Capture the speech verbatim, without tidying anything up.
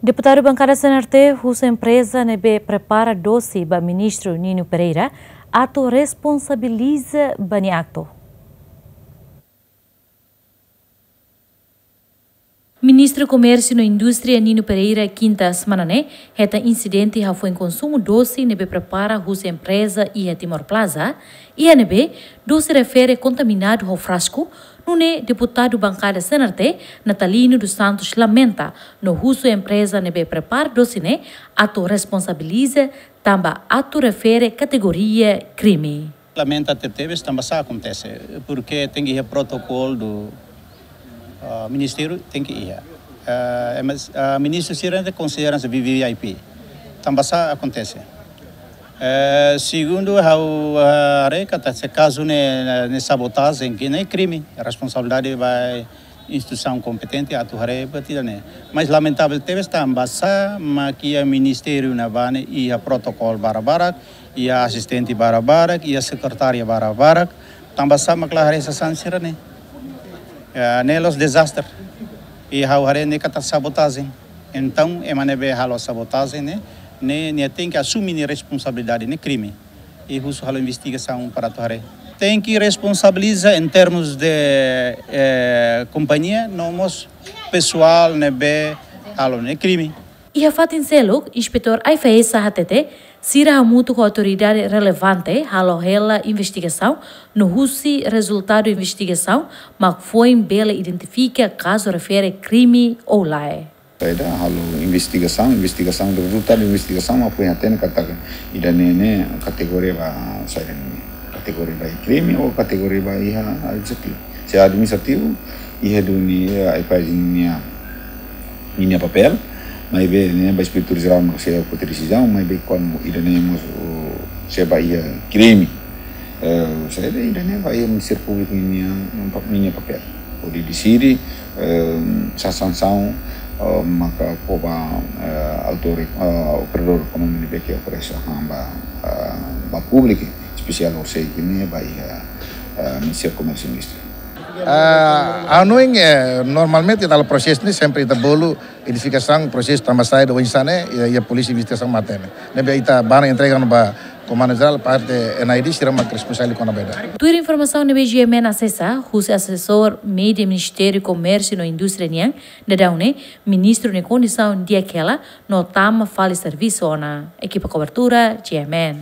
Deputadu Bankada C N R T husu empreza ne'ebé prepara dose ba Ministru Nino Pereira atu responsabiliza ba nia aktu. Ministru Komérsiu no Indústria Nino Pereira, kinta semana ne'e, hetan insidente hafoin konsumu dose ne'ebé prepara husi empreza iha Timor Plaza, iha ne'ebé dose refere kontaminadu ho frasku, nune'e deputadu bankada C N R T, Natalino dos Santos, lamenta no husu empreza ne'ebé prepara dose ne'e atu responsabiliza tanba atu refere kategoria krime. Lamenta tebetebes tanba sá akontese, porke tenke iha protokolu do, ah, ministériu, tenke iha. Ah, ema, ah, ministru sira ne'e konsidera hanesan V V I P. Tanba sá akontese. Eh, segundu, ha'u, ah, haree katak se kazu ne'e, ne'e sabotajen, ne'e krime, responsabilidade ba instituisaun kompetente atu haree buat ida-ne'e. Mas lamentavel tebes tanba sá mak iha ministériu ne'ebá ne'e iha protokolu barak-barak, iha asistente barak-barak, iha sekretária barak-barak, tanba sá mak la haree sasán sira-ne'e. Ya, ne'e la'ós dezastre. I ha'u haree ne'e katak sabotajen. Entaun, ema ne'ebé halo sabotajen ne'e, ne'e, nia tenke asume nia responsabilidade, ne'e krime. I husu halo investigasaun para atu haree. Tenke responsabiliza em termos de, eh, kompañia, no mós pesoál ne'ebé halo ne'e krime. Iha fatin seluk, Inspetór AIFAESA hatete, sira hamutuk ho autoridade relevante halo hela investigasaun, no husi rezultadu investigasaun mak foin bele identifika kazu refere krime ou lae. Saida, halo investigasaun, investigasaun, rezultadu investigasaun mak foin hatene katak ida-ne'e ne'e kategoria ba saida ne'e, kategoria ba krime ou kategoria ba iha administrativu. Se administrativu, iha duni, eh, AIFAESA ninia, ninia papél, maibé ne'e ba Inspetór Jerál mak sei foti desizaun, maibé kuandu ida-ne'e mós, oh, sei ba iha krime, eh, saida, ida-ne'e ba iha Ministériu Públiku ninia, ninia papél hodi deside, eh, sá sansaun, eh, maka fó ba, eh, autór, eh, operadór ekonomia ne'ebé ke oferese han ba, eh, ba públiku, espesiál horisehik ne'e ba iha, eh, Ministériu Komérsiu no Indústria. Ah, anu ing, eh, normalmente dalam proses ne'e sempre ita bolu identifikasaun, prosesu tanba saida, oinsá ne'e, iha, iha polísia investigasaun mak hatene. Ne'ebé ita bá entrega ona ba Komandu Jerál, parte N I D, sira mak responsavel kona-ba ida. Tuir informasaun ne'ebé G M N asesa, husi asesór média Ministériu Komérsiu no Indústria nian, daudaun ne'e, ministru nia kondisaun di'ak hela, no tama fali servisu ona. Ekipa kobertura, G M N.